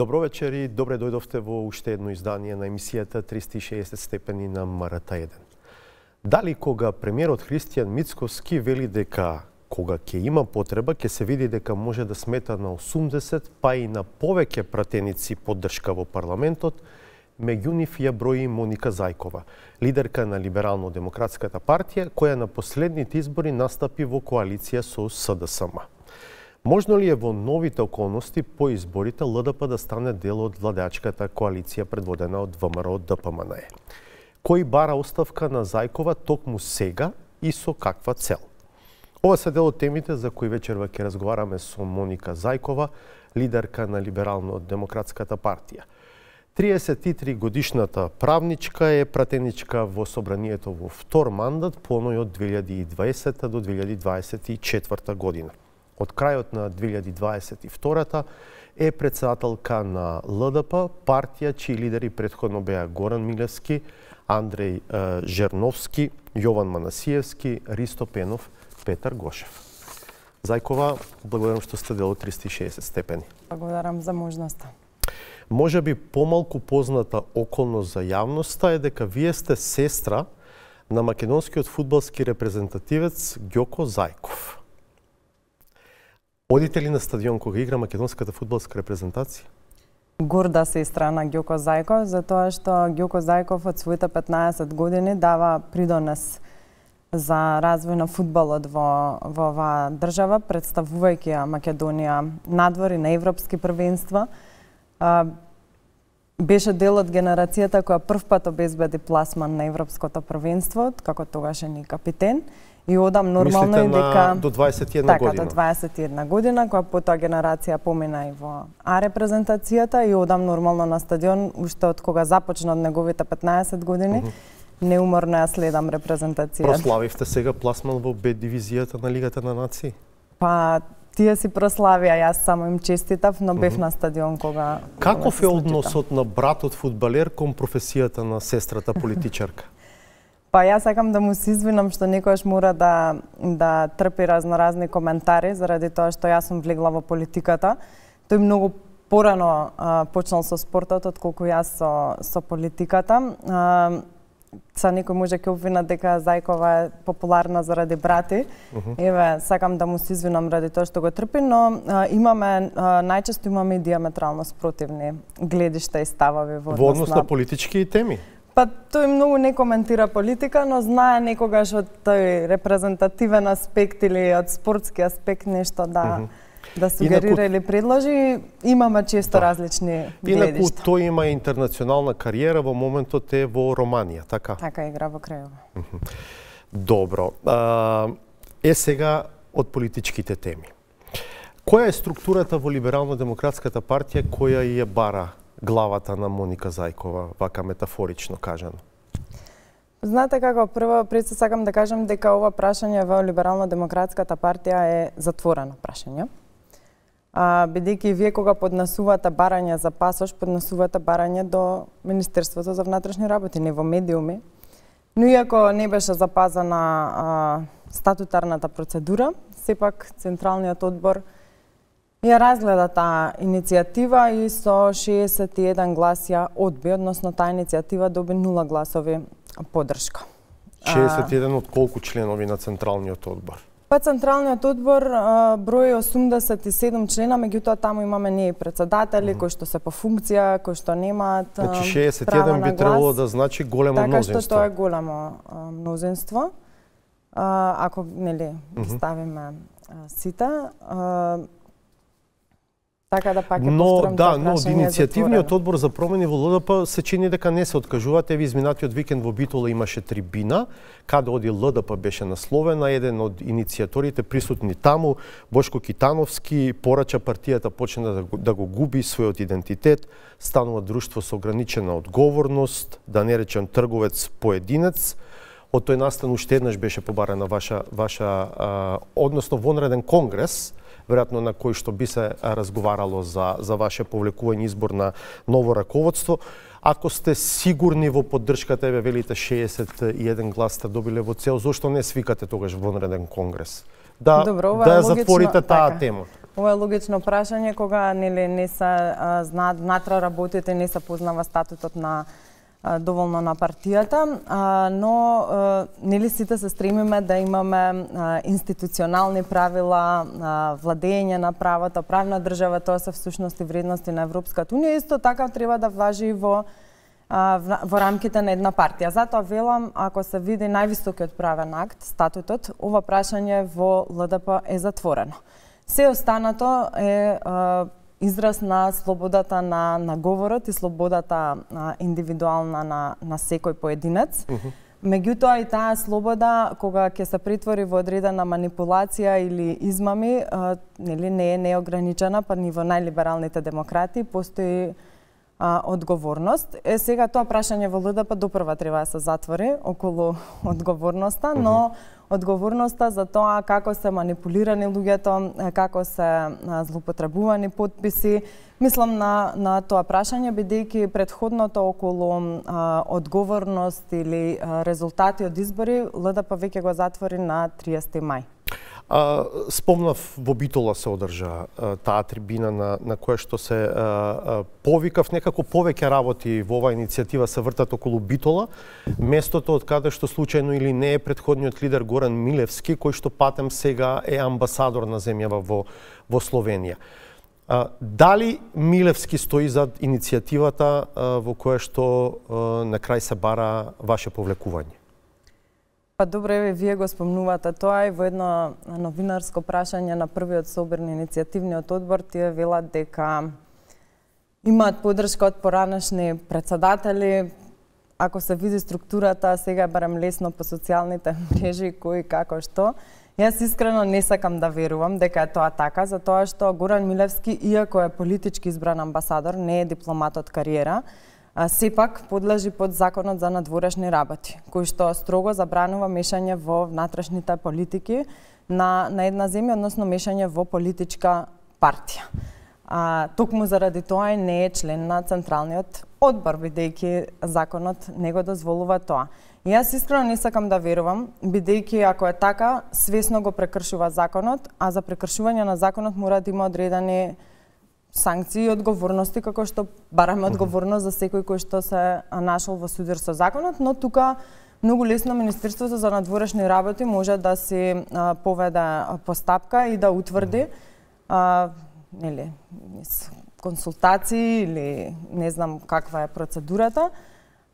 Добро вечер и добре дојдовте во уште едно издание на емисијата 360 степени на МРТ1. Дали кога премиерот Христијан Мицкоски вели дека кога ќе има потреба, ќе се види дека може да смета на 80, па и на повеќе пратеници поддршка во парламентот, меѓу нив ја брои Моника Зајкова, лидерка на Либерално-демократската партија, која на последните избори настапи во коалиција со СДСМ. Можно ли е во новите околности по изборите ЛДП да стане дел од владеачката коалиција предводена од ВМРО ДПМНЕ? Кој бара оставка на Зајкова токму сега и со каква цел? Ова се дел од темите за кои вечерва ќе разговараме со Моника Зајкова, лидерка на Либерално-демократската партија. 33 годишната правничка е пратеничка во собранието во втор мандат поној од 2020 до 2024 година. Од крајот на 2022 е председателка на ЛДП, партија чии лидери претходно беа Горан Милевски, Андреј Жерновски, Јован Манасиевски, Ристо Пенов, Петар Гошев. Зајкова, благодарам што сте дел од 360 степени. Благодарам за можноста. Може би помалку позната околност за јавноста е дека вие сте сестра на македонскиот фудбалски репрезентативец Ѓоко Зајков. Одите ли на стадион кога игра македонската фудбалска репрезентација? Горда сестра на Ѓоко Зајков, затоа што Ѓоко Зајков од своите 15 години дава придонес за развој на фудбалот во оваа држава, представувајќи ја Македонија надвор и на европски првенства. Беше дел од генерацијата која првпат обезбеди пласман на европското првенство, како тогашен и капитен. И одам нормално и дека до 21 така, година. До 21 година, која потоа генерација помина и во А репрезентацијата и одам нормално на стадион уште од кога започна од неговите 15 години. Неуморно ја следам репрезентацијата. Прославивте сега пласман во Б дивизијата на Лигата на нации? Па тие си прославија, јас само им честитав, но бев на стадион кога Каков е односот на братот фудбалер кон професијата на сестрата политичарка? Па јас сакам да му се извинам што некојаш мора да трпи разноразни коментари заради тоа што јас сум влегла во политиката. Тој многу порано почнал со спортот отколку јас со политиката. Са некој може ќе обвина дека Зајкова е популарна заради брати. Еве, сакам да му се извинам ради тоа што го трпи, но најчесто имаме и диаметрално спротивни гледишта и ставови во однос на политички теми. Па тој многу не коментира политика, но знае некогаш од тој репрезентативен аспект или од спортски аспект нешто да сугерира или предложи. Имаме често различни гледишта. Инаку тој има интернационална кариера, во моментот е во Романија, така? Така, игра во Крајево. Добро. Сега од политичките теми. Која е структурата во Либерално-демократската партија која ја бара главата на Моника Зајкова, вака метафорично кажано? Знаете како, прво пред се сакам да кажам дека ова прашање во Либерално-демократската партија е затворено прашање. Бидејќи вие кога поднесувате барање за пасош, поднесувате барање до Министерството за внатрешни работи, не во медиуми. Но иако не беше запазена статутарната процедура, сепак Централниот одбор ја разгледа таа иницијатива и со 61 глас ја одби, односно таа иницијатива доби 0 гласови поддршка. 61 од колку членови на Централниот одбор? Па Централниот одбор брои 87 члена, меѓутоа таму имаме ние председатели кои што се по функција, кои што немаат Значи 61 би требало да значи големо мнозинство. Така што тоа е големо мнозинство. Ако нели ги ставиме сите, така да пак е пострам да, но од иницијативниот одбор за промени во ЛДП се чини дека не се откажуваат. Еви изминатиот викенд во Битола имаше трибина, каде оди ЛДП беше насловена. Еден од иницијаторите присутни таму, Бошко Китановски, порача партијата почна да го губи својот идентитет, станува друштво со ограничена одговорност, да не речем трговец поединец. Од тој настан уште еднаш беше побарана ваша односно вонреден конгрес, веројатно на кој што би се разговарало за ваше повлекување избор на ново раководство. Ако сте сигурни во поддршката, еве велите 61 глас сте добиле во цел, зошто не свикате тогаш вонреден конгрес? Да ја затворите таа тема. Ова е логично прашање кога нели не се знаат внатре работите, не се познава статутот на доволно на партијата, но нели сите се стремиме да имаме институционални правила, владење на правото, правна држава, тоа се всушност и вредности на Европската унија, исто така треба да важи и во рамките на една партија. Затоа велам, ако се види највисокиот правен акт, статутот, ова прашање во ЛДП е затворено. Се останато е израз на слободата на говорот и слободата индивидуална на секој поединец. Меѓутоа и таа слобода, кога ќе се претвори во одредена манипулација или измами, нели не е неограничена, па ни во најлибералните демократи постои одговорност. Сега тоа прашање во ЛДП допрва треба да се затвори околу одговорноста, но одговорноста за тоа како се манипулирани луѓето, како се злоупотребувани потписи, мислам на тоа прашање, бидејќи претходното околу одговорност или резултати од избори, ЛДП веќе го затвори на 30 мај. Спомнав, во Битола се одржа таа трибина на која што се повикав, некако повеќе работи во оваа иницијатива се вртат околу Битола, местото од каде што случајно или не е претходниот лидер Горан Милевски, кој што патем сега е амбасадор на земјава во Словенија. Дали Милевски стои зад иницијативата во која што на крај се бара ваше повлекување? Па добро, еве, вие го спомнувате тоа и во едно новинарско прашање на првиот собор на иницијативниот одбор тие велат дека имаат поддршка од поранешни председатели. Ако се види структурата, сега барем лесно по социјалните мрежи кој како што. Јас искрено не сакам да верувам дека е тоа така, затоа што Горан Милевски, иако е политички избран амбасадор, не е дипломат од кариера, сепак подлежи под законот за надворешни работи, кој што строго забранува мешање во внатрешните политики на една земја, односно мешање во политичка партија. Токму заради тоа и не е член на Централниот одбор, бидејќи законот не го дозволува тоа. И јас искрено не сакам да верувам, бидејќи ако е така, свесно го прекршува законот, а за прекршување на законот мора да има одредени санкции и одговорности, како што бараме одговорност за секој кој што се нашол во судир со законот, но тука многу лесно Министерството за надворешни работи може да си поведе постапка и да утврди нели консултации или не знам каква е процедурата,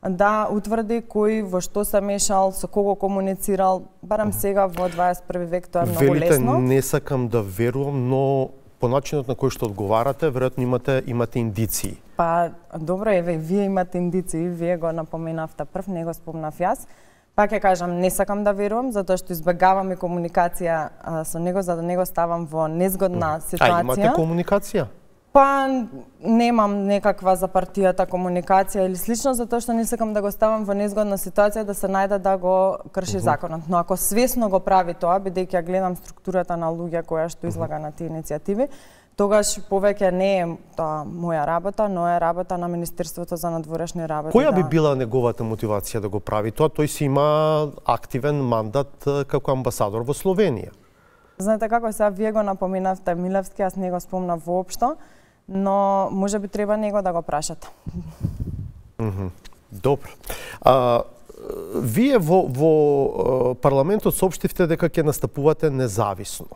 да утврди кој во што се мешал, со кого комуницирал, барем сега во 21 век тоа е многу лесно. Велите, не сакам да верувам, но по начинот на кој што одговарате, веројатно имате индиции. Па, добро, еве, вие имате индиции, вие го напоменавте прв, не го спомнав јас. Пак ќе кажам, не сакам да верувам, затоа што избегавам и комуникација со него, за да не го ставам во незгодна ситуација. Имате комуникација? Па, немам некаква за партијата комуникација или слично, затоа што не сакам да го ставам во незгодна ситуација да се најде да го крши законот. Но ако свесно го прави тоа, бидејќи ја гледам структурата на луѓе која што излага на тие иницијативи, тогаш повеќе не е тоа моја работа, но е работа на Министерството за надворешни работи. Која би била неговата мотивација да го прави тоа? Тој си има активен мандат како амбасадор во Словенија. Знаете како, сега вие го напоменавте Милевски, јас не го спомнав воопшто, но може би треба него да го прашате. Добро. Вие во парламентот соопштивте дека ќе настапувате независно.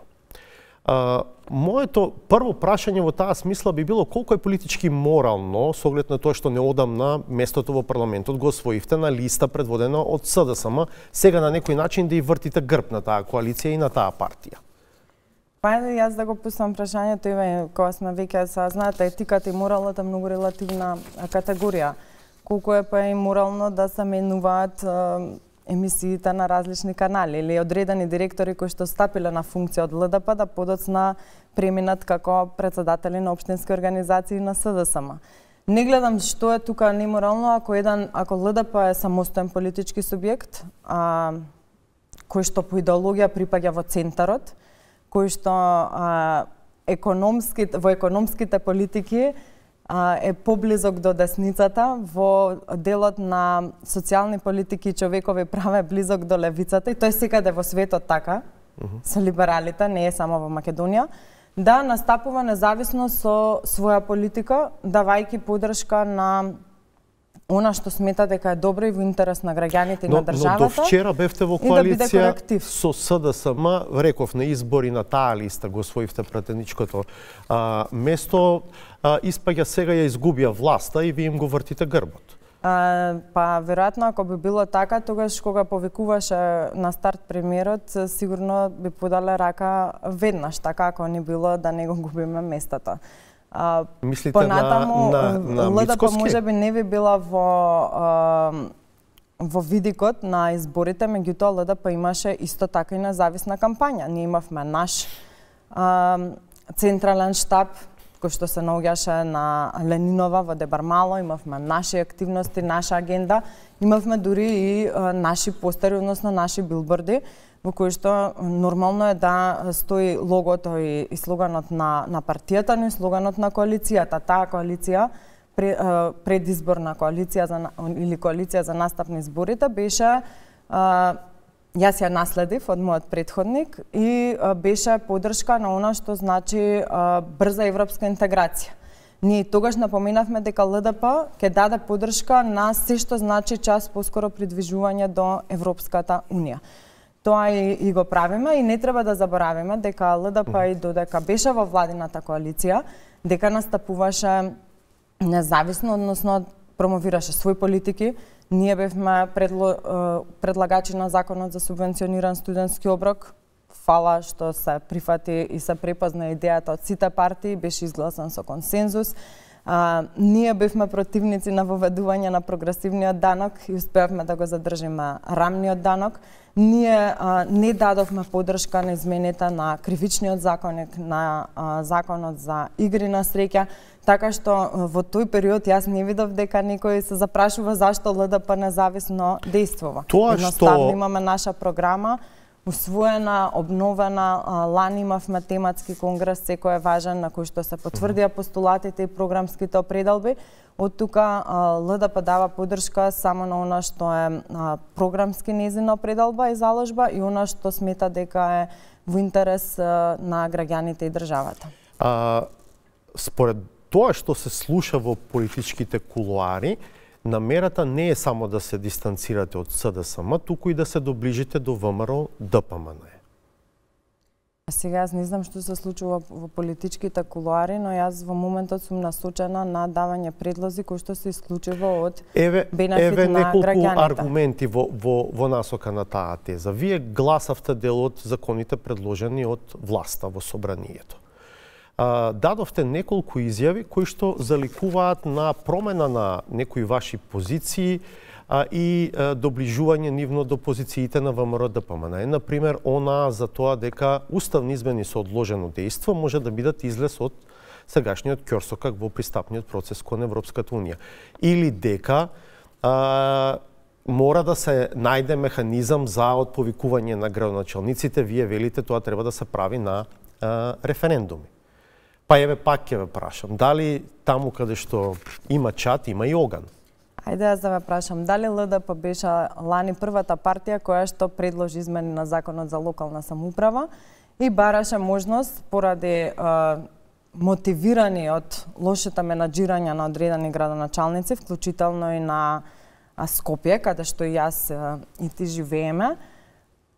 Моето прво прашање во таа смисла би било колку е политички морално, со оглед на тоа што неодамна местото во парламентот го освоивте на листа предводена од СДСМ, сега на некој начин да и вртите грб на таа коалиција и на таа партија. Па јас да го пуснам прашањето, еве, кога сме веќе знаете, етиката и моралот е многу релативна категорија. Колку е па и морално да се менуваат емисиите на различни канали или одредени директори кои што стапиле на функција од ЛДП да подоцна преминат како председатели на општински организации на СДСМ. Не гледам што е тука неморално ако ЛДП е самостоен политички субјект, кој што по идеологија припаѓа во центарот, кој што во економските политики е поблизок до десницата, во делот на социјални политики и човекови права е близок до левицата и тоа е секаде во светот така, со либералите, не е само во Македонија. да настапува независно со своја политика, давајќи поддршка на она што смета дека е добро и во интерес на граѓаните и на државата. Но до вчера бевте во коалиција со СДСМ, реков на избори на таа листа го освоивте пратеничкото место, испаѓа сега ја изгубија власта и ви им го вртите грбот. Па веројатно ако би било така, тогаш кога повикуваше на старт премиерот, сигурно би подале рака веднаш, така ако не било да не го губиме местото. Мислите понатаму, на ЛДП можеби не би била во видикот на изборите, меѓутоа ЛДП имаше исто така и независна кампања. Ние имавме наш централен штаб, кој што се наоѓаше на Ленинова во Дебармало, имавме наши активности, наша агенда, имавме дури и наши постери, односно наши билборди, во кои што нормално е да стои логото и слоганот на партијата, но и слоганот на коалицијата. Таа коалиција, предизборна коалиција или коалиција за настап на изборите, беше, јас ја наследив од мојот претходник и беше поддршка на она што значи брза европска интеграција. Ние тогаш напоменавме дека ЛДП ќе даде поддршка на се што значи час поскоро придвижување до Европската унија. Тоа и го правиме и не треба да заборавиме дека ЛДП и додека беше во владината коалиција, дека настапуваше независно, односно промовираше своји политики. Ние бевме предлагачи на законот за субвенциониран студентски оброк. Фала што се прифати и се препозна идејата од сите партии, беше изгласан со консензус. Ние бевме противници на воведување на прогресивниот данок и успеавме да го задржиме рамниот данок. Ние не дадовме поддршка на измените на кривичниот законник, на законот за игри на среќа, така што во тој период јас не видов дека некој се запрашува зашто ЛДП независно действува. Едноставно имаме наша програма, усвоена, обновена, лани имавме тематски конгрес, секој е важен, на кој што се потврдија постулатите и програмските определби. Од тука ЛДП дава поддршка само на она што е програмски нејзина определба и заложба и она што смета дека е во интерес на граѓаните и државата. Според тоа што се слуша во политичките кулуари, намерата не е само да се дистанцирате од СДСМ, туку и да се доближите до ВМРО ДПМН. Сега јас не знам што се случува во политичките кулуари, но јас во моментот сум насочена на давање предлози кои што се исклучиво од бенефит на граѓаните. Еве неколку аргументи во насока на таа теза. Вие гласавте дел од законите предложени од власта во собранието. Дадовте неколку изјави кои што заликуваат на промена на некои ваши позиции и доближување нивно до позициите на ВМРО ДПМН. Например, она за тоа дека уставни измени со одложено дејство може да бидат излез од сегашниот ќорсокак во пристапниот процес кон Европската унија. Или дека мора да се најде механизам за отповикување на градоначалниците. Вие велите тоа треба да се прави на референдуми. Па еве пак ќе ве прашам, дали таму каде што има чат, има и оган? Ајде јас да ве прашам, дали ЛДП беше лани првата партија која што предложи измени на законот за локална самоуправа и бараше можност поради мотивирани од лошето менаџирање на одредени градоначалници, вклучително и на Скопје, каде што и јас и ти живееме,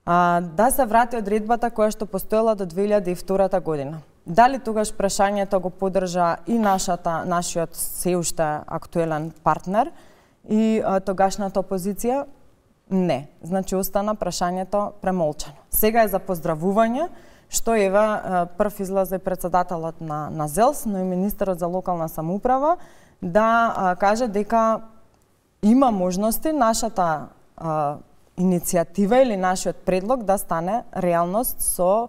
да се врати одредбата која што постоела до 2002 година. Дали тогаш прашањето го поддржа и нашиот се уште актуелен партнер и тогашната опозиција? Не. Значи остана прашањето премолчано. Сега е за поздравување што ева прв излезе председателот на ЗЕЛС, но и министерот за локална самоуправа да каже дека има можности нашата иницијатива или нашиот предлог да стане реалност со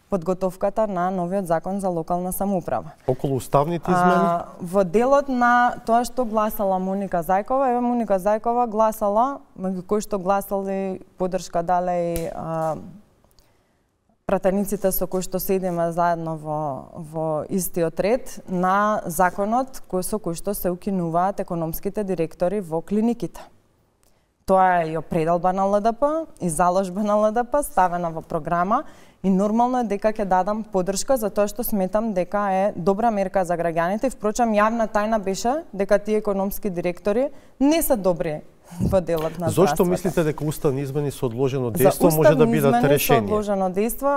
подготовката на новиот закон за локална самоуправа. Околу уставните измени? Во делот на тоа што гласала Моника Зајкова, еве Моника Зајкова гласала, меѓу кои што гласали поддршка дале и пратениците со кои што седиме заедно во истиот ред на законот со кој што се укинуваат економските директори во клиниките. Тоа е и определба на ЛДП, и заложба на ЛДП, ставена во програма, и нормално е дека ќе дадам поддршка за тоа што сметам дека е добра мерка за граѓаните. Впрочем, јавна тајна беше дека тие економски директори не се добри во делот на здравството. Зошто мислите дека уставни измени со одложено дејство може да бидат решение? За уставни измени со одложено дејство,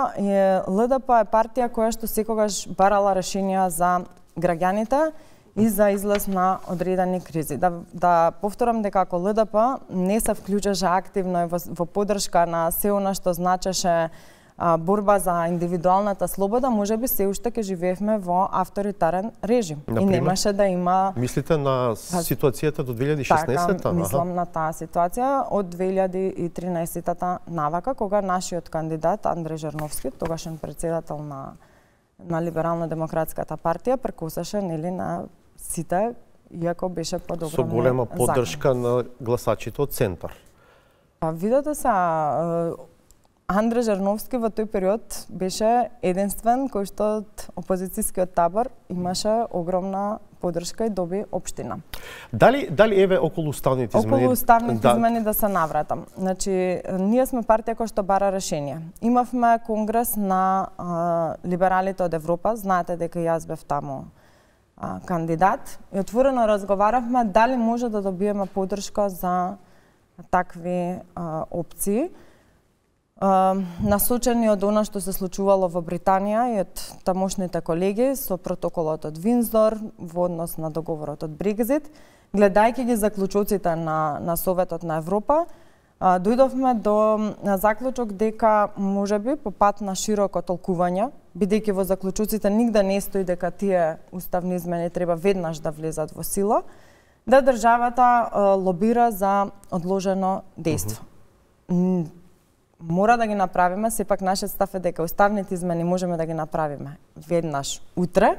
ЛДП е партија која што секогаш барала решенија за граѓаните и за излез на одредени кризи. Да повторам дека ако ЛДП не се вклучеше активно во поддршка на се она што значеше борба за индивидуалната слобода, можеби се уште ќе живеевме во авторитарен режим. Например, и немаше да има... Мислите на ситуацијата до 2016-та? Така, мислам на таа ситуација од 2013-та навака, кога нашиот кандидат Андреј Жерновски, тогашен председател на Либерално-демократската партија, прекусаше на сите, иако беше подобро. Со голема поддршка на гласачите од Центар. Па видете се, Андреј Жерновски во тој период беше единствен кој што од опозицијскиот табор имаше огромна поддршка и доби општина. Дали еве околу уставните измени? Околу уставните измени да се навратам. Значи, ние сме партија која што бара решение. Имавме конгрес на либералите од Европа, знаете дека јас бев таму кандидат, и отворено разговаравме дали може да добиеме поддршка за такви опции, насочени од она што се случувало во Британија и од тамошните колеги со протоколот од Виндзор во однос на договорот од Брекзит, гледајќи ги заклучоците на Советот на Европа, дојдовме до заклучок дека можеби по пат на широко толкување, бидејќи во заклучоците нигде не стои дека тие уставни измени треба веднаш да влезат во сила, да државата лобира за одложено дејство. Мора да ги направиме, сепак нашиот став е дека уставните измени можеме да ги направиме веднаш утре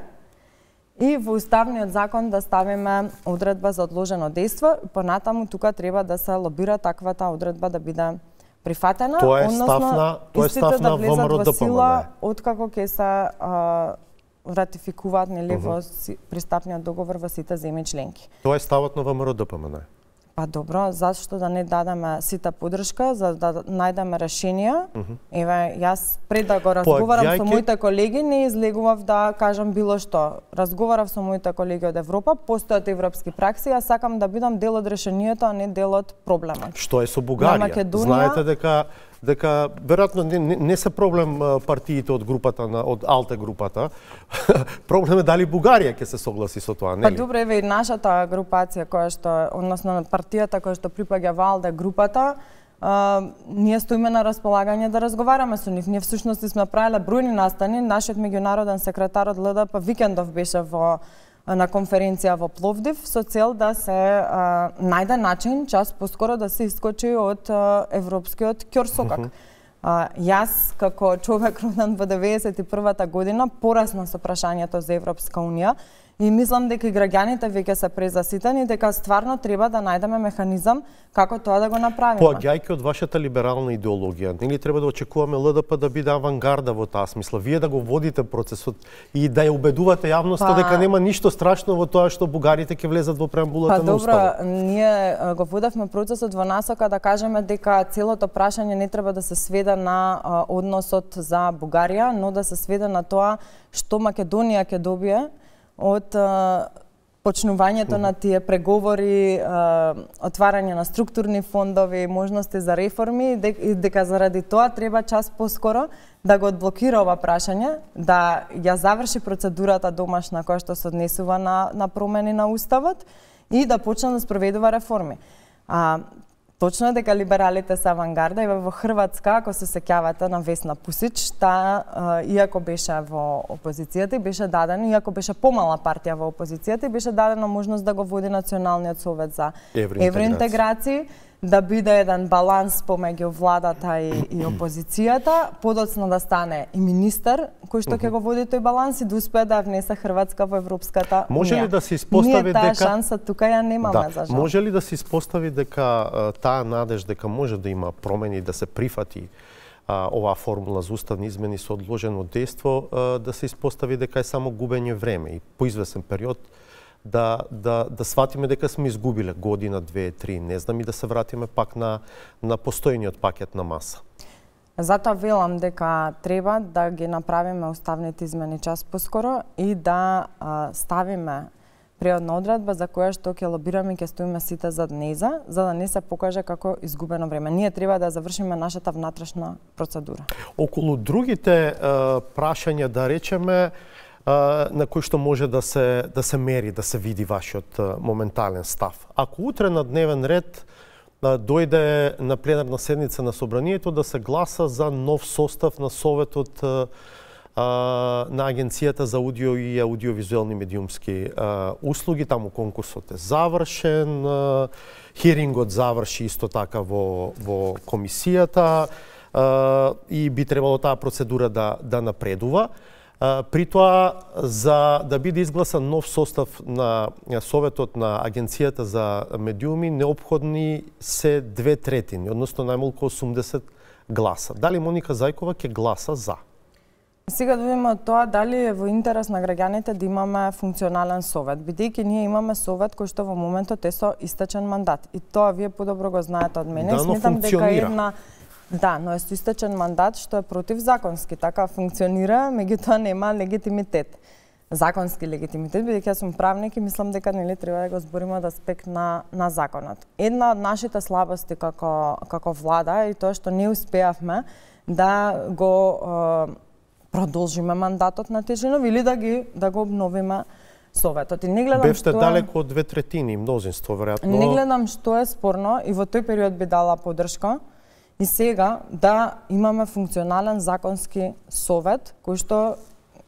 и во уставниот закон да ставиме одредба за одложено дејство, понатаму тука треба да се лобира таквата одредба да биде прифатена, тоа е став на ВМРО ДПМН. Откако ќе се ратификуваат во пристапниот договор во сите земји членки. Тоа е ставот на ВМРО ДПМН. Па добро, зашто да не дадеме сите поддршка за да најдеме решенија? Еве, јас пред да го разговарам со моите колеги, не излегував да кажам било што. Разговарав со моите колеги од Европа, постојат европски пракси, јас сакам да бидам дел од решението, а не дел од проблемот. Што е со Бугарија? Знаете дека веројатно не се проблем партиите од групата од Алте групата. Проблем е дали Бугарија ќе се согласи со тоа, нели? Па добро, еве и нашата групација која што, односно партијата која што припаѓа во Алте групата, ние стоиме на располагање да разговараме со нив. Ние всушност сме правеле бројни настани, нашиот меѓународен секретар од ЛДП Викендов беше на конференција во Пловдив со цел да се најде начин час поскоро да се искочи од европскиот ќорсокак. Јас како човек роден во 91-та година порасна со прашањето за Европска унија и мислам дека и граѓаните веќе се презаситени, дека стварно треба да најдеме механизам како тоа да го направиме. Поаѓајќи од вашата либерална идеологија, нели треба да очекуваме ЛДП да биде авангарда во таа смисла, вие да го водите процесот и да ја убедувате јавноста дека нема ништо страшно во тоа што бугарите ќе влезат во преамбулата на уставот. Па добро, ние го водевме процесот во насока да кажеме дека целото прашање не треба да се сведе на односот за Бугарија, но да се сведе на тоа што Македонија ќе добие од почнувањето на тие преговори, отварање на структурни фондови, можности за реформи, и дека заради тоа треба час поскоро да го одблокира ова прашање, да ја заврши процедурата домашна која што се однесува на промени на уставот и да почне да спроведува реформи. Точно е дека либералите се авангарда и во Хрватска, ако се сеќавате на Весна Пусич, таа иако беше во опозицијата, беше дадено, иако беше помала партија во опозицијата, беше дадена можност да го води Националниот совет за евроинтеграција, да биде еден баланс помеѓу владата и опозицијата, подоцна да стане и министер кој што ќе го води тој баланс и да успее да внесе Хрватска во Европската унија. Може ли да се испостави дека ние таа шанса тука ја немаме за жал? Може ли да се испостави дека таа надеж дека може да има промени, да се прифати оваа формула за уставни измени со одложено дејство, да се испостави дека е само губење време и по извесен период да сватиме дека сме изгубиле година, 2, 3, не знам, и да се вратиме пак на постојниот пакет на маса. Затоа велам дека треба да ги направиме уставните измени час поскоро и да ставиме преодна одредба за која што ќе лобираме и ќе стоиме сите зад нејза, за да не се покаже како изгубено време. Ние треба да завршиме нашата внатрешна процедура. Околу другите прашања, да речеме, на кои што може да се мери, да се види вашиот моментален став. Ако утре на дневен ред дојде на пленарна седница на Собранието да се гласа за нов состав на Советот на Агенцијата за аудио и аудиовизуелни медиумски услуги, таму конкурсот е завршен, хирингот заврши исто така во комисијата и би требало таа процедура да напредува. При тоа, за да биде изгласан нов состав на Советот на Агенцијата за медиуми, неопходни се 2/3, односно најмалку 80 гласа. Дали Моника Зајкова ќе гласа за? Сега да видиме од тоа дали е во интерес на граѓаните да имаме функционален совет, бидејќи ние имаме совет кој што во моментот е со истечен мандат. И тоа вие подобро го знаете од мене. Да, но функционира. Да, но е со истечен мандат што е противзаконски, така функционира, меѓутоа нема легитимитет. Законски легитимитет, бидејќи јас сум правник и мислам дека нели треба да го збориме од аспект на законот. Една од нашите слабости како влада е тоа што не успеавме да го продолжиме мандатот на Тежинов или да го обновиме Советот. И не гледам бевте далеко од 2/3, мнозинство веројатно. Не гледам што е спорно и во тој период би дала поддршка. И сега да имаме функционален законски совет, кој што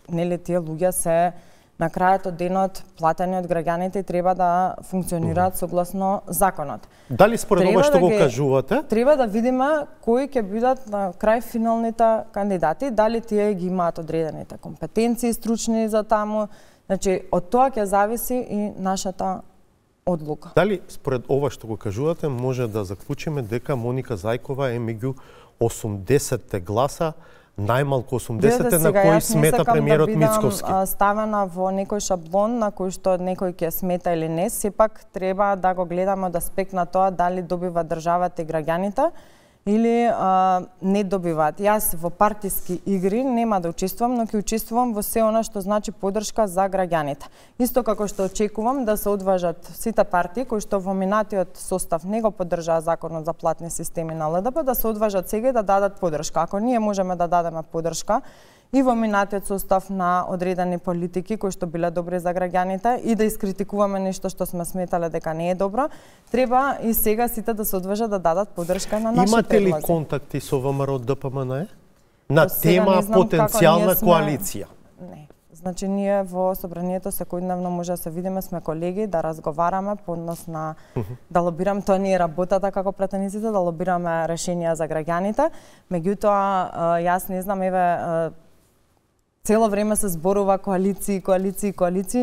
нели тие луѓе се на крајот од денот платени од граѓаните и треба да функционираат согласно законот. Дали според ова што го кажувате? Треба да видиме кои ќе бидат на крај финалните кандидати, дали тие ги имаат одредените компетенции стручни за таму. Значи, од тоа ќе зависи и нашата одлука. Дали според ова што го кажувате може да заклучиме дека Моника Зајкова е меѓу 80 гласа, најмалку 80 на кои смета премиерот Мицковски? Да ставена во некој шаблон на кој што некој ќе смета или не, сепак треба да го гледаме од аспект на тоа дали добива државата и граѓаните или не добиваат. Јас во партиски игри нема да учествувам, но ќе учествувам во се она што значи поддршка за граѓаните. Исто како што очекувам да се одважат сите партии кои што во минатиот состав не го поддржаа законот за платни системи на ЛДП, да се одважат сега и да дадат поддршка. Ако ние можеме да дадеме поддршка и во минатиот состав на одредени политики кои што биле добри за граѓаните и да искритикуваме нешто што сме сметале дека не е добро, треба и сега сите да се одважат да дадат поддршка на нашите предложи. Имате ли контакти со ВМРО ДПМНЕ на тема потенцијална коалиција? Не. Значи ние во Собранието секојдневно може да се видиме, сме колеги, да разговараме по однос на да лобираме, тоа не е работата како пратениците, да лобираме решенија за граѓаните. Меѓутоа јас не знам, еве цело време се зборува коалиции,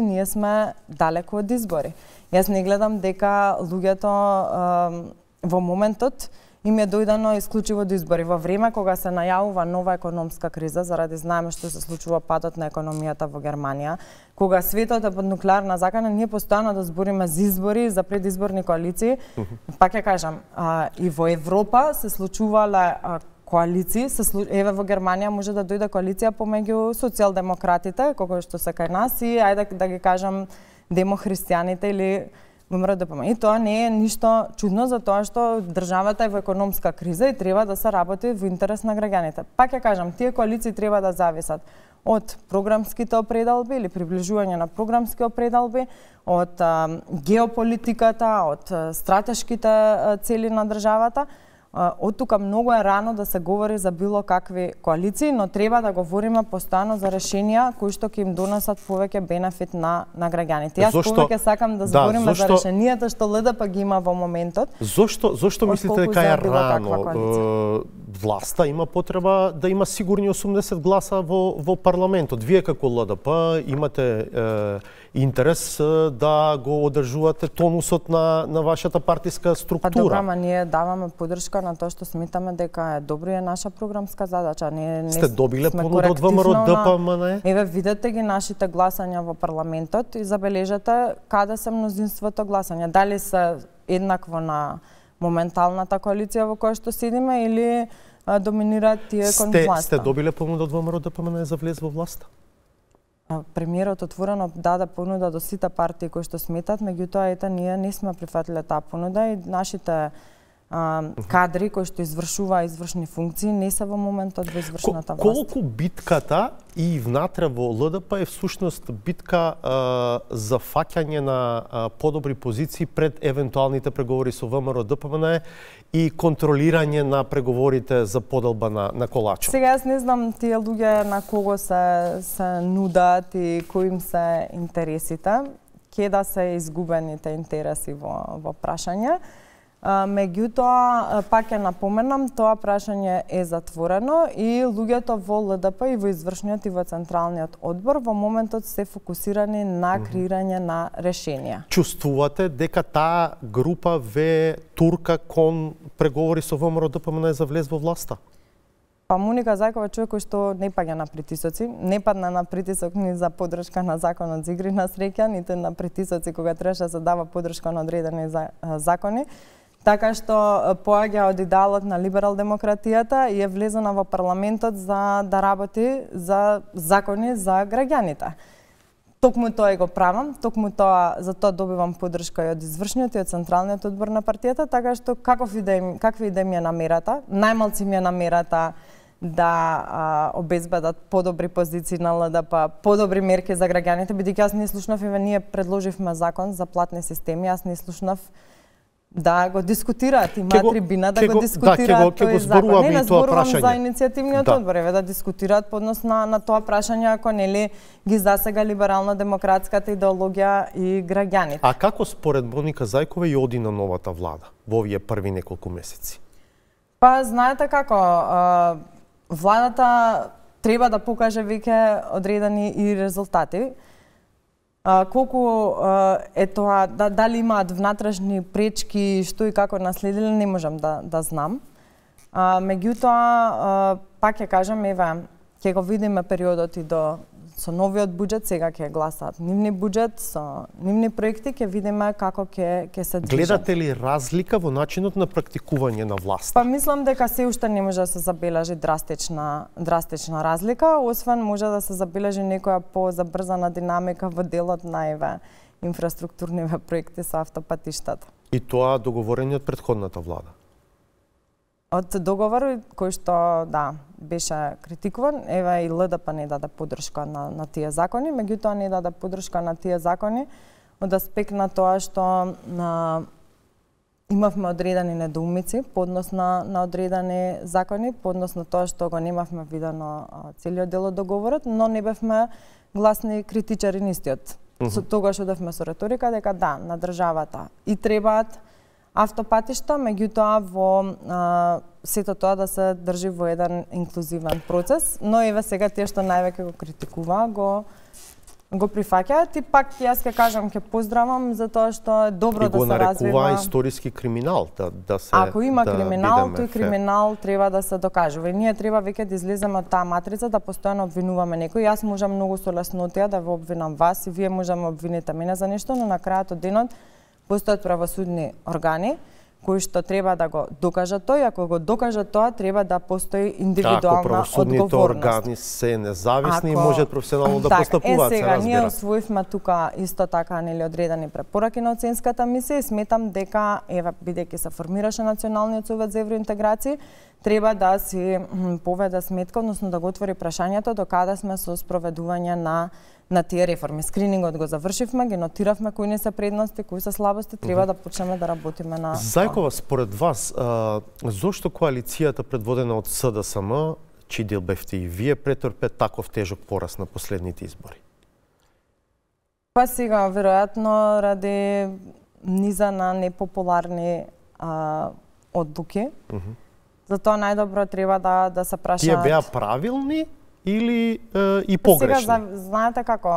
ние сме далеко од избори. Јас не гледам дека луѓето во моментот им е дојдено исклучиво до избори. Во време кога се најавува нова економска криза, заради знаеме што се случува падот на економијата во Германија, кога светот е под нуклеарна закана, ние постојано да збориме за избори, за предизборни коалиции. Пак ја кажам, и во Европа се случувале коалиции, еве во Германија може да дојде коалиција помеѓу социјалдемократите, кога што се кај нас, и ајде да ги кажам демохристијаните или ВМРО ДПМНЕ. И тоа не е ништо чудно за тоа што државата е во економска криза и треба да се работи во интерес на граѓаните. Пак ја кажам, тие коалиции треба да зависат од програмските определби или приближување на програмски определби, од геополитиката, од стратешките цели на државата. Од тука многу е рано да се говори за било какви коалиции, но треба да говориме постојано за решенија кои што ќе им донесат повеќе бенефит на граѓаните. Јас повеќе сакам да збориме за решенијата што ЛДП ги има во моментот. Зошто мислите дека е рано? власта има потреба да има сигурни 80 гласа во парламентот. Вие како ЛДП имате интерес да го одржувате тонусот на вашата партиска структура. Па добра, ама ние даваме поддршка на тоа што сметаме дека е добро, е наша програмска задача. Не сте добиле понуда од ВМРО ДПМН? Еве видете ги нашите гласања во парламентот и забележете каде се мнозинството гласања. Дали се еднакво на моменталната коалиција во која што седиме или доминираат тие кон власта. Сте добиле понуда од ВМРО ДПМН за влез во власта? Премиерот отворено даде понуда до сите партии кои што сметат, меѓутоа ете ние не сме прифатиле таа понуда и нашите кадри кои што извршува извршни функции не се во моментот во извршната власт. Колку битката и внатре во ЛДП е всушност битка за фаќање на подобри позиции пред евентуалните преговори со ВМРО ДПМН и контролирање на преговорите за поделба на колачот? Сега јас не знам тие луѓе на кого се нудат и кои им се интересите. Ке да се изгубените интереси во прашање. Меѓутоа, пак ја напоменам, тоа прашање е затворено и луѓето во ЛДП и во извршниот и во централниот одбор во моментот се фокусирани на креирање на решенија. Чувствувате дека таа група ве турка кон преговори со ВМРО ДПМН за влез во власта? Па Моника Зајкова е човек кој што не паѓа на притисоци, не падна на притисок ни за поддршка на законот за игри на среќа, ниту на притисоци кога требаше да се дава поддршка на одредени закони. Така што поаѓа од идеалот на либерал-демократијата и е влезена во парламентот за да работи за закони за граѓаните. Токму тоа го правам, токму тоа за тоа добивам поддршка и од извршниот и од централниот одбор на партијата, така што каква и да ми е намерата, најмалци ми е намерата да обезбедат подобри позиции на ЛДП, подобри мерки за граѓаните, бидејќи јас не слушнав, ние предложивме закон за платни системи, јас не слушнав да го дискутираат, има трибина да го дискутираат тој закон. Не зборувам за иницијативниот одбор, еве да дискутираат по однос на тоа прашање ако нели ги засега либерално-демократската идеологија и граѓаните. А како според Моника Зајкова и оди на новата влада во овие први неколку месеци? Па знаете како, владата треба да покаже веќе одредени и резултати. Колку е тоа, дали имаат внатрешни пречки, што и како наследиле, не можам да знам. Меѓутоа, пак ќе кажам, еве, ќе го видиме периодот и со новиот буџет, сега ќе гласаат нивни буџет, со нивни проекти, ќе видиме како ќе се движат. Гледате ли разлика во начинот на практикување на власта? Па мислам дека се уште не може да се забележи драстична разлика, освен може да се забележи некоја позабрзана динамика во делот на инфраструктурниве проекти со автопатиштата. И тоа договорени од претходната влада? Од договор кој што беше критикуван, еве и ЛДП не даде поддршка на тие закони, меѓутоа не даде поддршка на тие закони од аспект на тоа што имавме одредени недоумици по однос на одредени закони, по однос на тоа што го немавме видено целиот дел од договорот, но не бевме гласни критичари нистиот. Со тогаш одевме со реторика дека на државата и требаат автопатишта, меѓутоа во сето тоа да се држи во еден инклузивен процес, но еве сега тие што највеќе го критикува, го прифаќаат и пак јас ќе кажам, ќе поздравам за тоа што е добро да се развива. И го нарекува историски криминал, Ако има криминал, тој криминал треба да се докажува. И ние треба веќе да излеземе од таа матрица, да постојано обвинуваме некој. Јас можам многу со леснотија да ве обвинам вас и вие можеме обвините мене за нешто, но на крајот од денот постојат правосудни органи кои што треба да го докажат тоа, и ако го докажат тоа, треба да постои индивидуална одговорност. Ако правосудните органи се независни и можат професионално да постапуваат, се разбира. Ние освоивме тука исто така одредени препораки на оценската мисија и сметам дека, бидејќи се формираше Националниот совет за евроинтеграција, треба да си поведе сметка, односно да го отвори прашањето до каде сме со спроведување на тие реформи. Скринингот го завршивме, ги нотиравме кои не се предности, кои се слабости, треба да почнеме да работиме на Зајкова, според вас, зошто коалицијата предводена од СДСМ, чиј дел бевте и вие, претрпе таков тежок пораз на последните избори? Па сега, веројатно, ради низа на непопуларни одлуки. Затоа најдобро треба да се прашаат. Тие беа правилни или и погрешни? Сега, знаете како,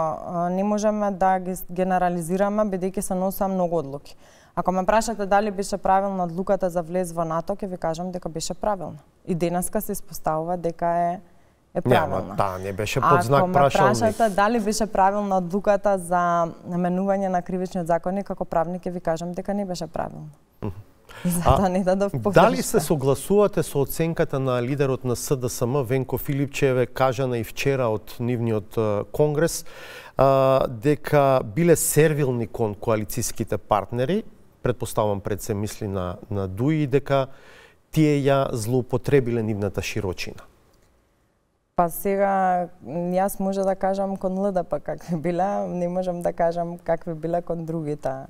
не можеме да ги генерализираме, бидејќи се носеа многу одлуки. Ако ме прашате дали беше правилна одлуката за влез во НАТО, ќе ви кажам дека беше правилна. И денеска се испоставува дека е правилна. Таа не беше под знак прашалник. Ако ме прашате дали беше правилна одлуката за наменување на кривичниот законник, како правник ќе ви кажам дека не беше правилна. Затоа не дадов погрешка. Дали се согласувате со оценката на лидерот на СДСМ Венко Филипчеве, кажана и вчера од нивниот конгрес, дека биле сервилни кон коалицијските партнери, предпоставам пред се мисли на Дуи, дека тие ја злоупотребиле нивната широчина? Па сега, јас може да кажам кон ЛДП какви биле, не можам да кажам какви биле кон другите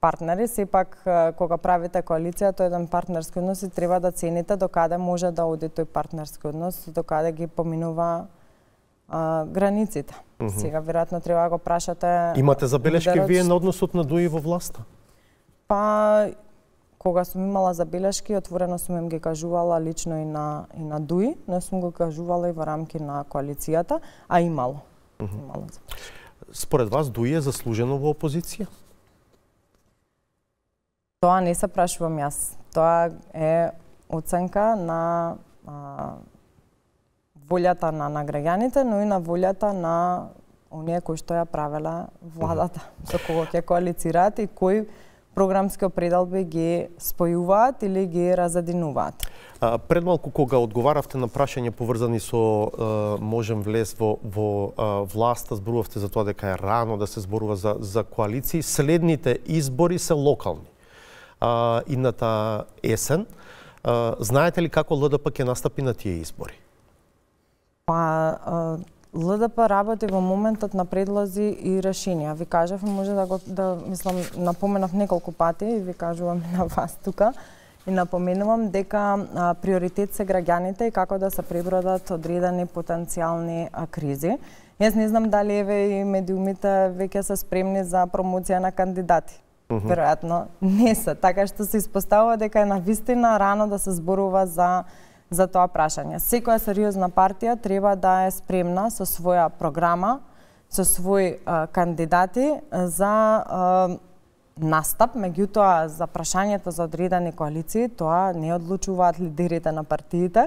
партнери. Сепак, кога правите коалиција, тој еден партнерски однос и треба да цените докаде може да оди тој партнерски однос, докаде ги поминува границите. Сега, веројатно, треба да го прашате... Имате забелешки вие на односот на Дуи во власта? Па, кога сум имала забелешки, отворено сум им ги кажувала лично и на Дуи, не сум го кажувала и во рамки на коалицијата, а имало. Според вас, Дуи е заслужено во опозиција? Тоа не се прашувам јас. Тоа е оценка на волјата на граѓаните, но и на волјата на оние кои што ја правела владата, со кого ќе коалицираат и кои програмски определби ги спојуваат или ги разединуваат. Пред малку кога одговаравте на прашања поврзани со можем влез во власта, зборувавте за тоа дека е рано да се зборува за коалиции. Следните избори се локални. Идната есен. Знаете ли како ЛДП ќе настапи на тие избори? Па, ЛДП работи во моментот на предлози и решенија. Ви кажав, може мислам, напоменав неколку пати и ви кажувам на вас тука и напоменувам дека приоритет се граѓаните и како да се пребродат одредени потенцијални кризи. Јас не знам дали еве и медиумите веќе се спремни за промоција на кандидати. Веројатно не се, така што се испоставува дека е навистина рано да се зборува за тоа прашање. Секоја сериозна партија треба да е спремна со своја програма, со своји кандидати за настап, меѓутоа за прашањето за одредени коалиции, тоа не одлучуваат лидерите на партиите,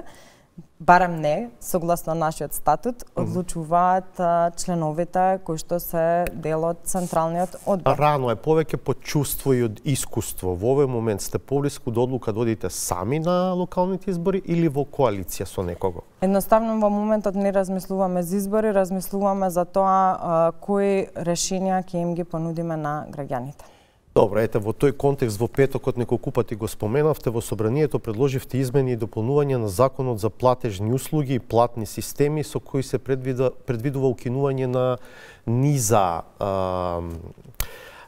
барем не, согласно нашиот статут, одлучуваат членовите кои што се дел од Централниот одбор. Рано е, повеќе по чувство и од искуство. Во овој момент сте поблиску до одлука да одите сами на локалните избори или во коалиција со некого? Едноставно во моментот не размислуваме за избори, размислуваме за тоа кои решенија ќе им ги понудиме на граѓаните. Добро, ете, во тој контекст во петокот неколку пати го споменавте, во собранието предложивте измени и дополнување на законот за платежни услуги и платни системи со кои се предвидува укинување на низа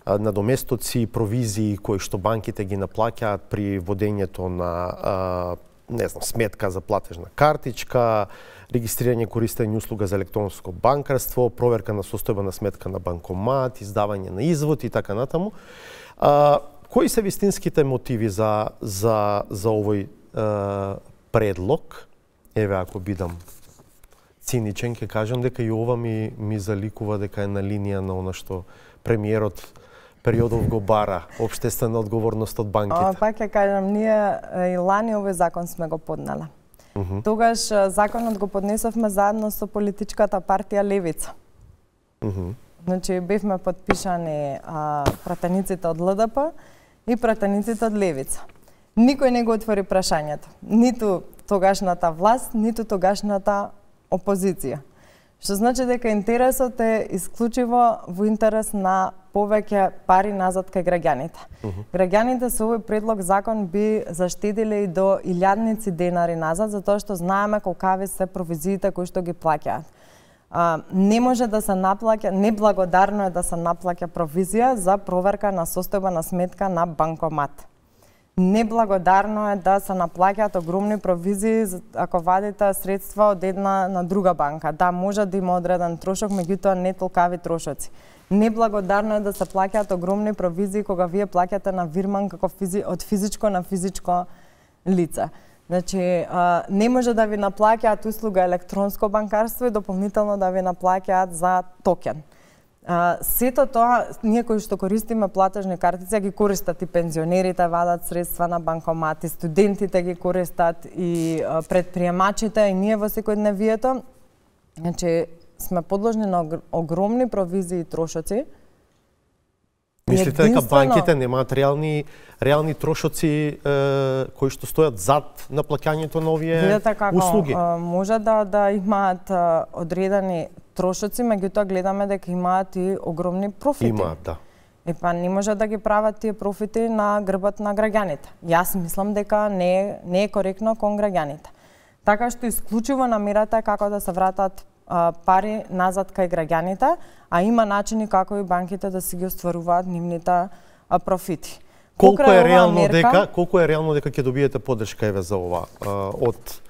надоместоци и провизии кои што банките ги наплаќаат при водењето на сметка за платежна картичка, регистрирање користење услуга за електронско банкарство, проверка на состојба на сметка на банкомат, издавање на извод и така натаму. Кои се вистинските мотиви за овој предлог? Еве, ако бидам циничен, ќе кажам дека и ова ми заликува дека е на линија на она што премиерот периодов го бара, општествена одговорност од банките. Пак ќе кажам, ние и лани овој закон сме го поднеле. Тогаш законот го поднесовме заедно со политичката партија Левица. Значи, бевме подпишани пратениците од ЛДП и пратениците од Левица. Никој не го отвори прашањето. Ниту тогашната власт, ниту тогашната опозиција. Што значи дека интересот е исклучиво во интерес на повеќе пари назад кај граѓаните. Граѓаните со овој предлог закон би заштедиле и до илјадници денари назад, затоа што знаеме колкави се провизиите кои што ги плаќаат. Не може да се наплаќа, неблагодарно е да се наплаќа провизија за проверка на состојба на сметка на банкомат. Неблагодарно е да се наплаќаат огромни провизии ако вадите средства од една на друга банка. Да, може да има одреден трошок, меѓутоа не толкави трошоци. Неблагодарно е да се плаќаат огромни провизии кога вие плаќате на вирман како од физичко на физичко лице. Значи, не може да ви наплаќаат услуга електронско банкарство и дополнително да ви наплаќаат за токен. Сето тоа, ние кои што користиме платежни картици, ги користат и пензионерите, вадат средства на банкомати, студентите ги користат и предприемачите, и ние во секојдневието. Значи, сме подложни на огромни провизии и трошоци. Мислите дека банките немаат реални трошоци кои што стојат зад наплаќањето на овие услуги? Може да имаат одредени трошоци, меѓутоа гледаме дека имаат и огромни профити. Имаат, да. Па не може да ги прават тие профити на грбот на граѓаните. Јас мислам дека не е коректно кон граѓаните. Така што исклучиво намерата е како да се вратат пари назад кај граѓаните, а има начини како и банките да си ги остваруваат нивните профити. Колку е реално дека ќе добиете поддршка еве за ова од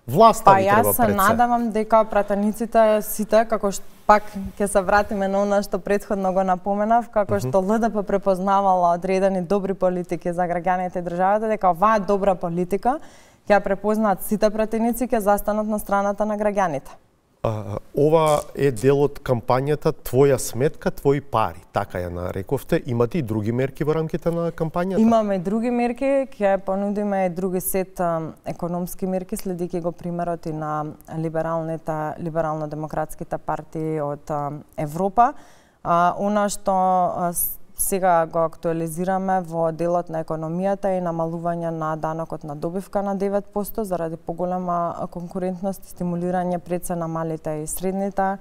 власта ви треба пред се? Па јас се надевам дека пратениците сите, како што пак ќе се вратиме на она што претходно го напоменав, како што ЛДП препознавала одредени добри политики за граѓаните и државата, дека оваа добра политика ќе препознаат сите пратеници, ќе застанат на страната на граѓаните. Ова е дел од кампањата Твоја сметка, твои пари, така ја нарековте. Имате и други мерки во рамките на кампањата? Имаме и други мерки, ќе понудиме и други сет економски мерки, следејќи го примерот и на либерално-демократските партии од Европа. Она што сега го актуализираме во делот на економијата и намалување на данокот на добивка на 9% заради поголема конкурентност и стимулирање пред се на малите и средните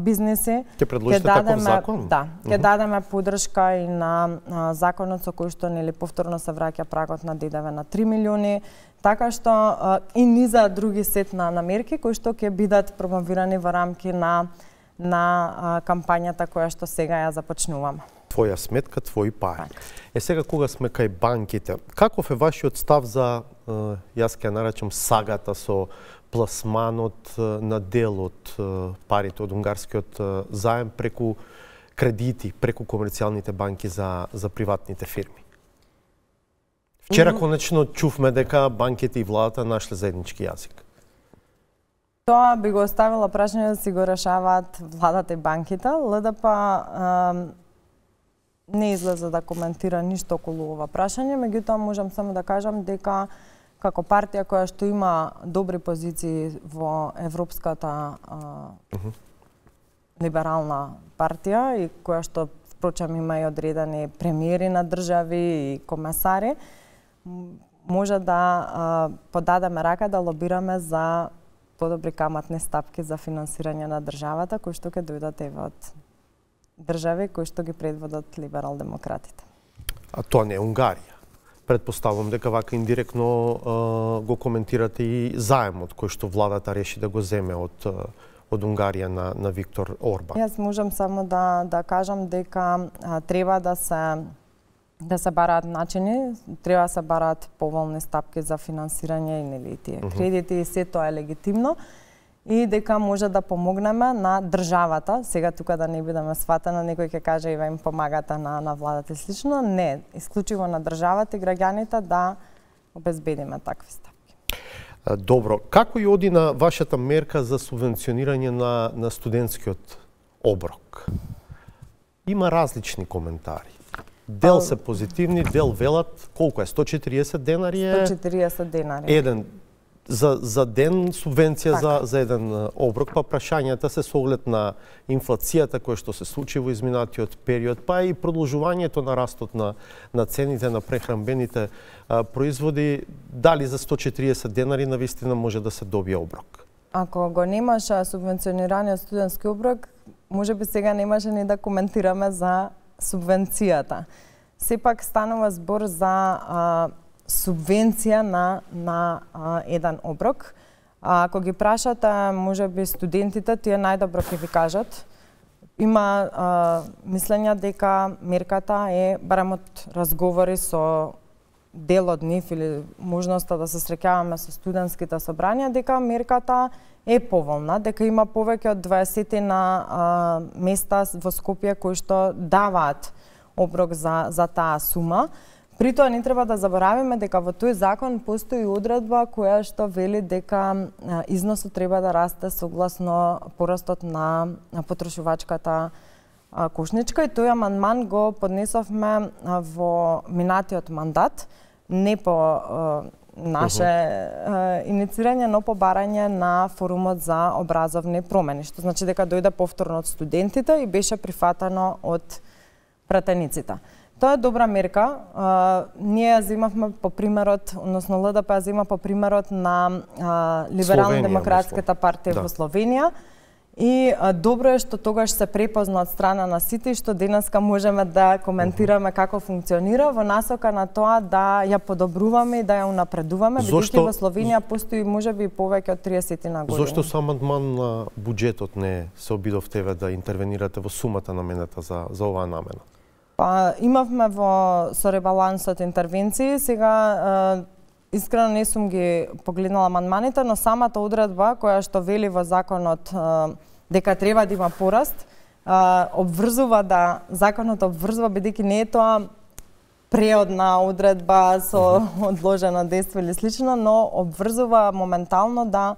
бизнеси. Ќе предложите таков закон? Да, ќе дадеме поддршка и на законот со кој што повторно се враќа прагот на ДДВ на 3 милиони, така што и низа други сет на мерки кои што ќе бидат промовирани во рамки на кампањата која што сега ја започнуваме. Твоја сметка, твои пари. Сега кога сме кај банките, каков е вашиот став за, јас ќе наречам, сагата со пласманот на дел од парите од унгарскиот заем преку кредити, преку комерцијалните банки за приватните фирми? Вчера конечно чувме дека банките и владата нашле заеднички јазик. Тоа би го оставила прашање да си го решаваат владата и банките. ЛДП не излезе да коментира ништо околу ова прашање, меѓутоа можам само да кажам дека како партија која што има добри позиции во Европската либерална партија и која што впрочем има и одредени премиери на држави и комесари, може да подадеме рака да лобираме за подобри каматни стапки за финансирање на државата, кои што ќе дојдат еве од држави кои што ги предводат либерал-демократите. А тоа не е Унгарија. Предпоставувам дека вака индиректно го коментирате и заемот кој што владата реши да го земе од Унгарија на Виктор Орбан. Јас можам само да кажам дека треба да се бараат начини, треба да се бараат поволни стапки за финансирање и нели тие кредити и се тоа е легитимно и дека може да помогнеме на државата. Сега тука да не бидеме сватена, некој ќе каже ива им помагате на владата и слично. Не, исклучиво на државата и граѓаните да обезбедиме такви стапки. Добро, како и оди на вашата мерка за субвенционирање на студентскиот оброк? Има различни коментари. Дел се позитивни, дел велат, колку е, 140 денари е? 140 денари. Еден за ден субвенција за еден оброк, па прашањата се со оглед на инфлацијата која што се случи во изминатиот период, па и продолжувањето на растот на цените на прехранбените производи, дали за 140 денари навистина може да се добие оброк? Ако го немаше субвенционираниот студентски оброк, можеби сега немаше ни да коментираме за субвенцијата. Сепак станува збор за субвенција на еден оброк. Ако ги прашате, можеби студентите, тие најдобро ќе ви кажат. Има мислење дека мерката е, барем од разговори со дел од нив или можноста да се среќаваме со студентските собрања, дека мерката е поволна, дека има повеќе од 20 на места во Скопје кои што даваат оброк за таа сума. При тоа не треба да заборавиме дека во тој закон постои одредба која што вели дека износот треба да расте согласно порастот на потрошувачката кошничка, и тој амандман го поднесовме во минатиот мандат, не по наше инициирање, но по барање на форумот за образовни промени, што значи дека дојде повторно од студентите и беше прифатено од пратениците. Тоа е добра мерка. Ние ја земавме по примерот, односно ЛДП ја зема по примерот на Либерално-демократската партија во Словенија. И добро е што тогаш се препозна од страна на сите и што денеска можеме да коментираме како функционира во насока на тоа да ја подобруваме и да ја унапредуваме, бидејќи во Словенија постои можеби повеќе од 30 на години. Зошто со амандман на буџетот не се обидовте да интервенирате во сумата намената за оваа намена? Па имавме со ребалансот интервенции, сега искрено не сум ги погледнала амандманите, но самата одредба која што вели во законот дека треба да има пораст, обврзува законот обврзува, бидејќи не е тоа преодна одредба со одложено дејство или слично, но обврзува моментално да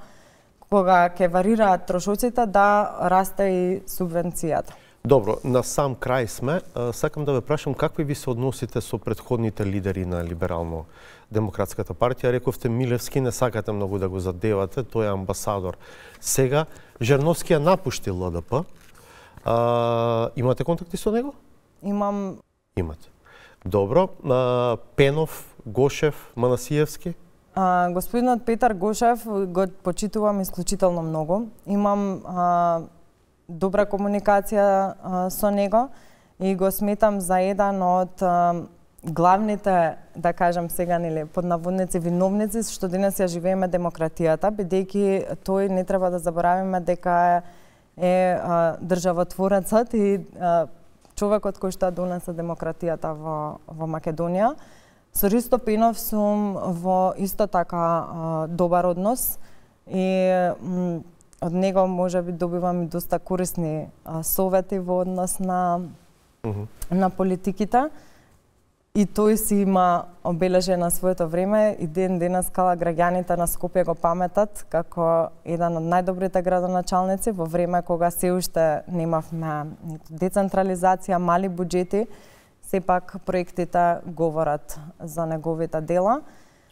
кога ќе варираат трошоците да расте и субвенцијата. Добро, на сам крај сме. Сакам да ве прашам какви ви се односите со претходните лидери на Либерално-демократската партија. Рековте Милевски не сакате многу да го задевате, тој е амбасадор. Сега Жерновски ја напушти ЛДП. Имате контакти со него? Имам. Имате. Добро. Пенов, Гошев, Манасиевски? Господинот Петар Гошев го почитувам исклучително многу. Имам добра комуникација со него и го сметам за еден од главните, да кажам сега, нели, под наводници виновници што денес ја живееме демократијата, бидејќи тој не треба да заборавиме дека е државотворецот и човекот кој што донесе демократијата во Македонија. Со Ристо Пенов сум во исто така добар однос и од него можеби добивам и доста корисни совети во однос на политиките. И тој си има обележено своето време и денеска граѓаните на Скопје го паметат како еден од најдобрите градоначалници во време кога се уште немавме децентрализација, мали буџети, сепак проектите говорат за неговите дела.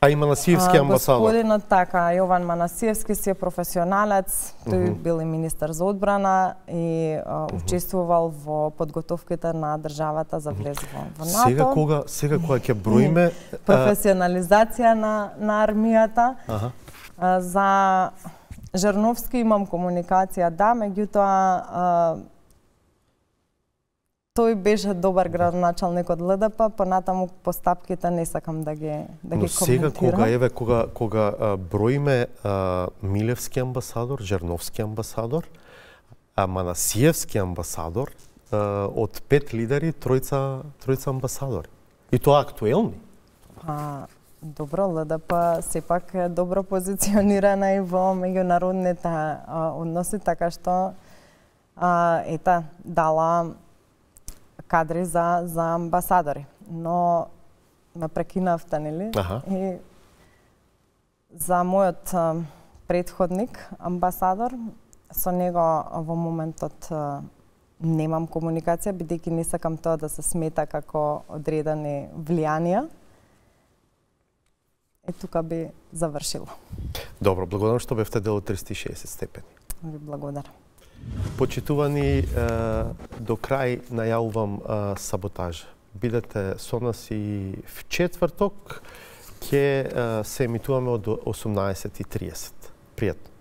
А и Манасиевски амбасадор. Господинот така, Јован Манасиевски си е професионалец, тој бил и министер за одбрана и учествувал во подготовките на државата за влез во НАТО. Сега кога ќе броиме професионализација на армијата. За Жерновски имам комуникација, да, меѓутоа тој беше добар градоначалник од ЛДП, понатаму постапките не сакам да ги коментирам. Сега кога броиме Милевски амбасадор, Жерновски амбасадор, Манасиевски амбасадор, од 5 лидери, тројца амбасадори. И тоа актуелни. Добро, ЛДП сепак е добро позиционирана и во меѓународните односи, така што дала кадри за амбасадори. Но ме прекинавте, нели? И за мојот претходник, амбасадор, со него во моментот немам комуникација, бидејќи не сакам тоа да се смета како одредени влијанија. И тука би завршила. Добро, благодарам што бевте дел од 360 степени. Ви благодарам. Почитувани, до крај најавувам саботажа. Бидете со нас и в четврток, ќе се емитуваме од 18:30. Пријатно.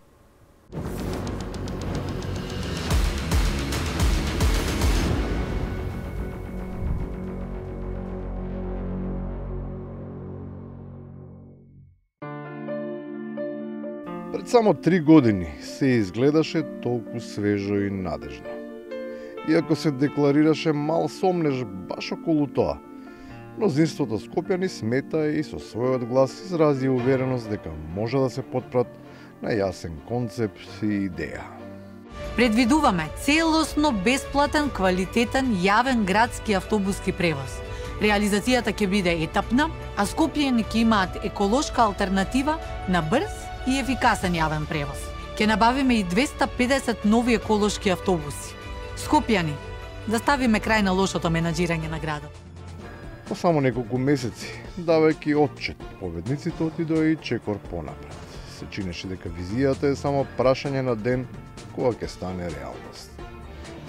Пред само 3 години се изгледаше толку свежо и надежно. Иако се декларираше мал сомнеж баш околу тоа, мнозинството скопјани смета и со својот глас изрази увереност дека може да се потпрат на јасен концепт и идеја. Предвидуваме целосно бесплатен, квалитетен, јавен градски автобуски превоз. Реализацијата ќе биде етапна, а скопјани ќе имаат еколошка алтернатива на брз и ефикасен јавен превоз. Ќе набавиме и 250 нови еколошки автобуси. Скопјани, да ставиме крај на лошото менаџирање на градот. По само неколку месеци, давајќи отчет, победниците отидоа и чекор понапред. Се чинеше дека визијата е само прашање на ден кога ќе стане реалност.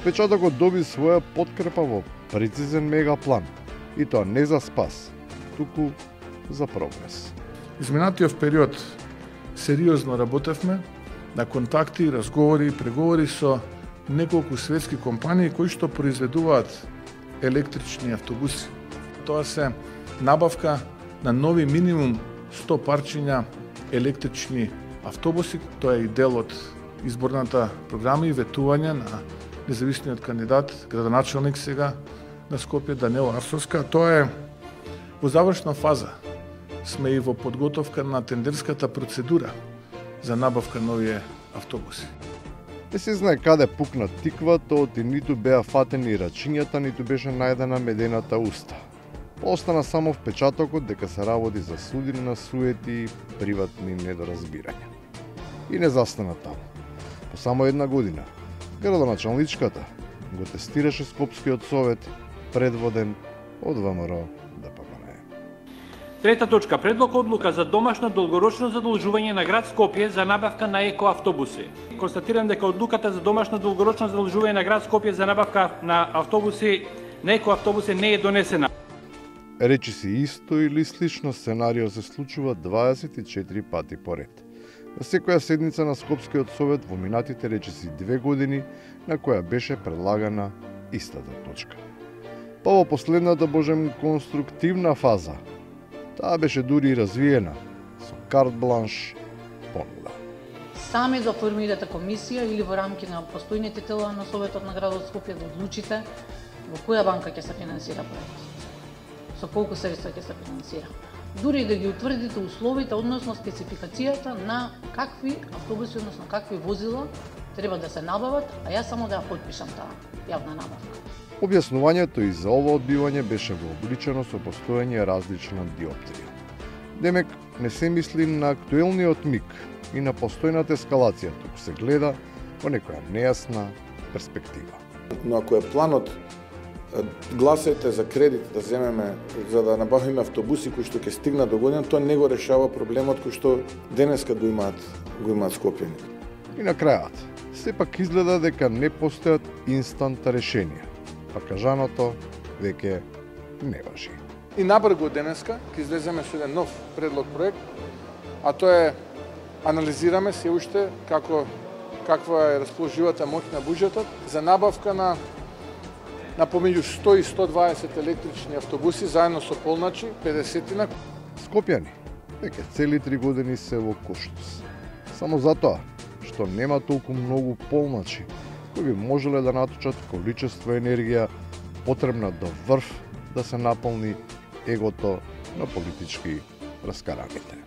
Печатокот доби своја подкрепа во прецизен мегаплан, и тоа не за спас, туку за прогрес. Изминатиот период сериозно работевме на контакти, разговори и преговори со неколку светски компании кои што произведуваат електрични автобуси. Тоа се набавка на нови минимум 100 парчиња електрични автобуси. Тоа е и дел од изборната програма и ветување на независниот кандидат, градоначелник сега на Скопје, Даниела Арсовска. Тоа е во завршна фаза. Сме и во подготовка на тендерската процедура за набавка нови автобуси. Не се знае каде пукна тиквата, оти ниту беа фатени рачињата, ниту беше најдена медената уста. Остана само впечатокот дека се работи за судина суети и приватни недоразбирања. И не застана таму. По само една година, градоначалничката го тестираше Скопскиот совет, предводен од ВМРО ДПМНЕ. Трета точка. Предлог одлука за домашно долгорочно задолжување на град Скопје за набавка на екоавтобуси. Констатирам дека одлуката за домашно долгорочно задолжување на град Скопје за набавка на автобуси, на екоавтобуси не е донесена. Речи си исто или слично сценарио се случува 24 пати поред. На секоја седница на Скопскиот совет во минатите речиси 2 години, на која беше предлагана истата точка. Па во последната, божем, конструктивна фаза, таа беше дури и развиена со карт бланш понуда. Сами да формирате комисија или во рамки на постојните тела на Советот на градот Скопје да одлучите во која банка ќе се финансира проектот, со колку средства ќе се финансира. Дури да ги утврдите условите, односно спецификацијата на какви автобуси, односно какви возила треба да се набават, а јас само да ја подпишам таа јавна набавка. Објаснувањето и за ова одбивање беше вообичено со постојање различна диоптрија. Демек, не се мисли на актуелниот миг и на постојната ескалација, туку се гледа во некоја нејасна перспектива. Но ако е планот гласајте за кредит да земеме за да набавиме автобуси кои што ќе стигнат до година, тоа не го решава проблемот кој што денеска го имаат Скопјани. И на крајот, сепак изгледа дека не постојат инстант решенија, па кажаното веќе не важи. И набрзо денеска ќе излеземе со еден нов предлог проект, а тоа е анализираме се уште каква е расположивата моќ на буџетот за набавка на помеѓу 100 и 120 електрични автобуси заедно со полначи 50-тина. Скопјани веќе цели 3 години се во Куштус. Само затоа што нема толку многу полначи кои би можеле да наточат количество енергија потребна до врв да се наполни егото на политички раскараните.